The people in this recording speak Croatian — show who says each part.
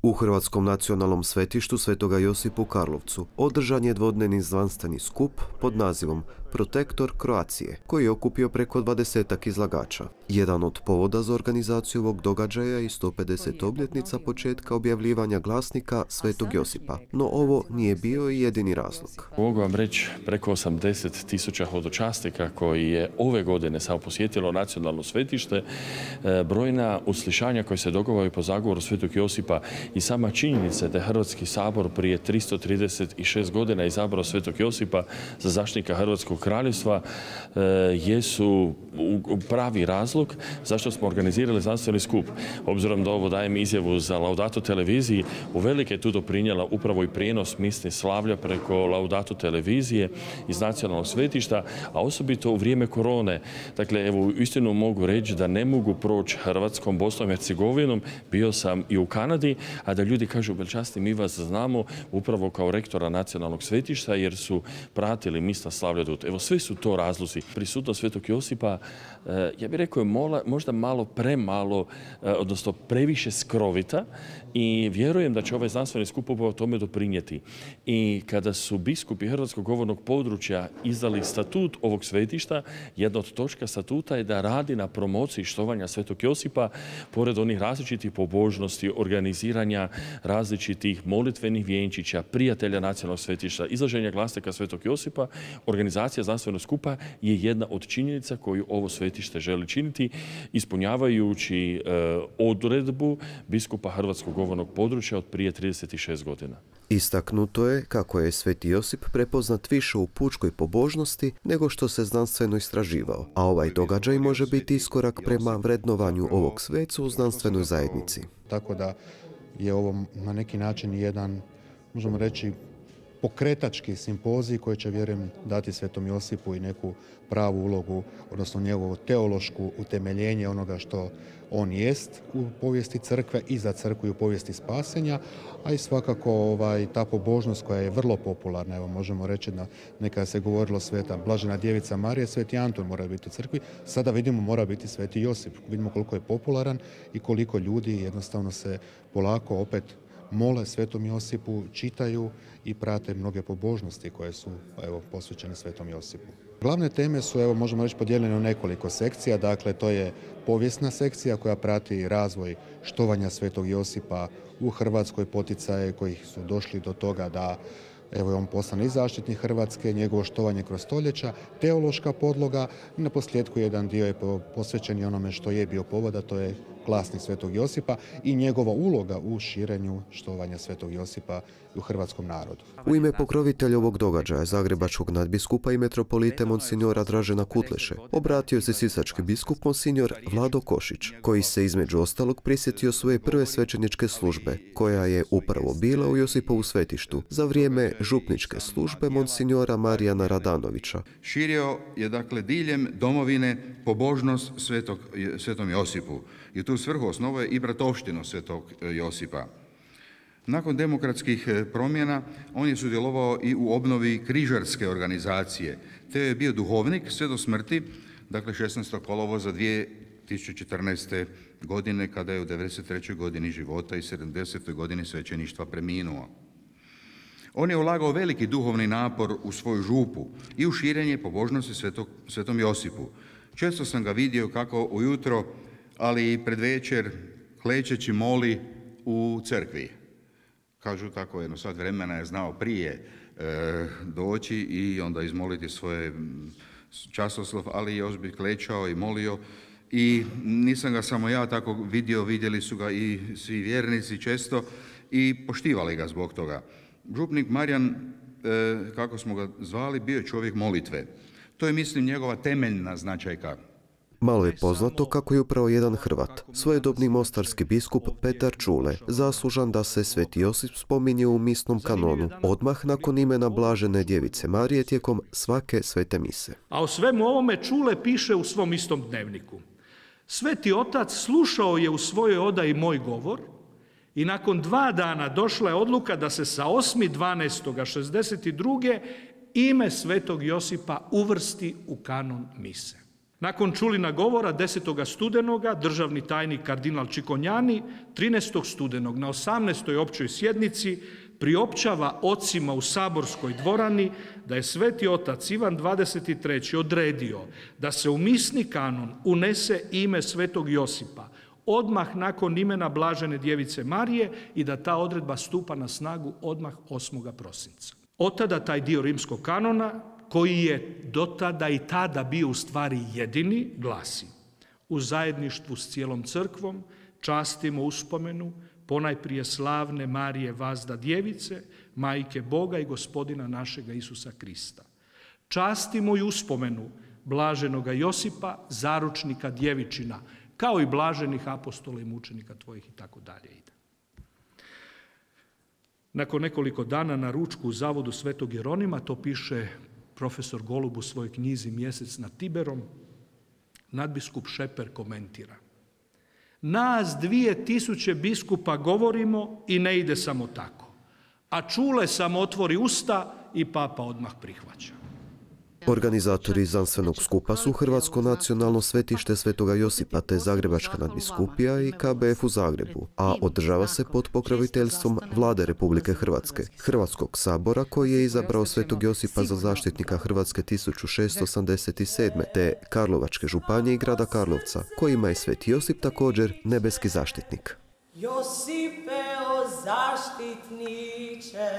Speaker 1: U Hrvatskom nacionalnom svetištu Svetoga Josipa u Karlovcu održan je dvodnevni znanstveni skup pod nazivom Protektor Kroacije, koji je okupio preko 20-ak izlagača. Jedan od povoda za organizaciju ovog događaja je 150 obljetnica početka objavljivanja glasnika Svetog Josipa, no ovo nije bio i jedini razlog.
Speaker 2: Mogu vam reći preko 80.000 hodočasnika koji je ove godine samo posjetilo nacionalno svetište, brojna uslišanja koje se događaju po zagovoru Svetog Josipa i sama činjenica da je Hrvatski sabor prije 336 godina izabrao Svetog Josipa za zaštitnika Hrvatskog kraljevstva jesu pravi razlog zašto smo organizirali znanstveni skup. Obzirom da ovo dajem izjavu za Laudato televiziji, uvelike je tu doprinijela upravo i prijenos misli slavlja preko Laudato televizije iz nacionalnog svetišta, a osobito u vrijeme korone. Dakle, evo, istinu mogu reći da ne mogu proći Hrvatskom, Bosnom i Hercegovinom. Bio sam i u Kanadi, a da ljudi kažu, velčasti, mi vas znamo upravo kao rektora nacionalnog svetišta jer su pratili misla slavlja dut. Evo, sve su to razlozi. Prisutnost Svetog Josipa, ja bih rekao, je možda malo premalo, odnosno previše skrovita i vjerujem da će ovaj znanstveni skup upravo tome doprinijeti. I kada su biskupi Hrvatskog govornog područja izdali statut ovog svetišta, jedna od točka statuta je da radi na promociji štovanja Svetog Josipa, pored onih različitih pobožnosti, organiziranja različitih molitvenih vjenčića, prijatelja nacionalnog svetišta, izlaženja glasnika Svetog Josipa. Organizacija znanstvenog skupa je jedna od činjenica koju ovo svetište želi činiti, ispunjavajući odredbu biskupa Hrvatskog govornog područja od prije 36 godina.
Speaker 1: Istaknuto je kako je Sveti Josip prepoznat više u pučkoj pobožnosti nego što se znanstveno istraživao, a ovaj događaj može biti iskorak prema vrednovanju ovog sveca u znanstvenoj zajednici.
Speaker 3: Tako da je ovo na neki način jedan, možemo reći, pokretački simpozij koji će, vjerujem, dati Svetom Josipu i neku pravu ulogu, odnosno njegovo teološku utemeljenje onoga što on jest u povijesti crkve i za crkvu i u povijesti spasenja, a i svakako ta pobožnost koja je vrlo popularna. Evo, možemo reći da nekada se govorilo Sveta Blažena djevica Marija, Sveti Anton mora biti u crkvi, sada vidimo mora biti Sveti Josip. Vidimo koliko je popularan i koliko ljudi jednostavno se polako opet mole Svetom Josipu, čitaju i prate mnoge pobožnosti koje su posvećene Svetom Josipu. Glavne teme su, možemo reći, podijeljene u nekoliko sekcija. Dakle, to je povijesna sekcija koja prati razvoj štovanja Svetog Josipa u Hrvatskoj, poticaje koji su došli do toga da je on poslan i zaštitnik Hrvatske, njegovo štovanje kroz stoljeća, teološka podloga i na posljedku jedan dio je posvećen i onome što je bio povoda, to je glasnik Svetog Josipa i njegova uloga u širenju štovanja Svetog Josipa u hrvatskom narodu.
Speaker 1: U ime pokrovitelja ovog događaja, zagrebačkog nadbiskupa i metropolite monsinjora Dražena Kutleše, obratio se sisački biskup monsinjor Vlado Košić, koji se između ostalog prisjetio svoje prve svećeničke službe, koja je upravo bila u Josipovu svetištu za vrijeme župničke službe monsinjora Marijana Radanovića.
Speaker 4: Širio je, dakle, diljem domovine pobožnost Svetom Josipu i tu svrhu osnovao je i bratovštinu Svetog Josipa. Nakon demokratskih promjena on je sudjelovao i u obnovi križarske organizacije, te je bio duhovnik sve do smrti, dakle 16. kolovoza 2014. godine, kada je u 93. godini života i 70. godini svećeništva preminuo. On je ulagao veliki duhovni napor u svoju župu i u širenje pobožnosti Svetom Josipu. Često sam ga vidio kako ujutro, ali i pred večer, klečeći moli u crkvi. Kažu tako, jedno sat vremena je znao prije doći i onda izmoliti svoje časoslov, ali još bi klečao i molio. I nisam ga samo ja tako vidio, vidjeli su ga i svi vjernici često i poštivali ga zbog toga. Župnik Marijan, kako smo ga zvali, bio je čovjek molitve. To je, mislim, njegova temeljna značajka.
Speaker 1: Malo je poznato kako je upravo jedan Hrvat, svojedobni mostarski biskup Petar Čule, zaslužan da se Sveti Josip spominje u misnom kanonu, odmah nakon imena Blažene djevice Marije tijekom svake svete mise.
Speaker 5: A o svemu ovome Čule piše u svom istom dnevniku. Sveti otac slušao je u svojoj odaji moj govor i nakon 2 dana došla je odluka da se sa 8.12.62. ime Svetog Josipa uvrsti u kanon mise. Nakon Čulina govora 10. studenoga državni tajnik kardinal Čikonjani 13. studenog na 18. općoj sjednici priopćava ocima u saborskoj dvorani da je Sveti otac Ivan 23. odredio da se u misni kanon unese ime Svetog Josipa odmah nakon imena Blažene djevice Marije i da ta odredba stupa na snagu odmah 8. prosinca. Od tada taj dio rimskog kanona, koji je do tada i tada bio u stvari jedini, glasi: u zajedništvu s cijelom crkvom častimo uspomenu ponajprije slavne Marije Vazda djevice, majke Boga i Gospodina našega Isusa Krista. Častimo i uspomenu blaženoga Josipa, zaručnika djevičina, kao i blaženih apostola i mučenika tvojih i tako dalje ide. Nakon nekoliko dana na ručku u zavodu Svetog Jeronima, to piše profesor Golub u svojoj knjizi Mjesec nad Tiberom, nadbiskup Šeper komentira: nas 2000 biskupa govorimo i ne ide samo tako, a Čule samo otvori usta i papa odmah prihvaća.
Speaker 1: Organizatori znanstvenog skupa su Hrvatsko nacionalno svetište Svetoga Josipa te Zagrebačka nadbiskupija i KBF u Zagrebu, a održava se pod pokroviteljstvom Vlade Republike Hrvatske, Hrvatskog sabora koji je izabrao Svetog Josipa za zaštitnika Hrvatske 1687. te Karlovačke županije i grada Karlovca, kojima je Sveti Josip također nebeski zaštitnik.
Speaker 6: Josipe o zaštitniče,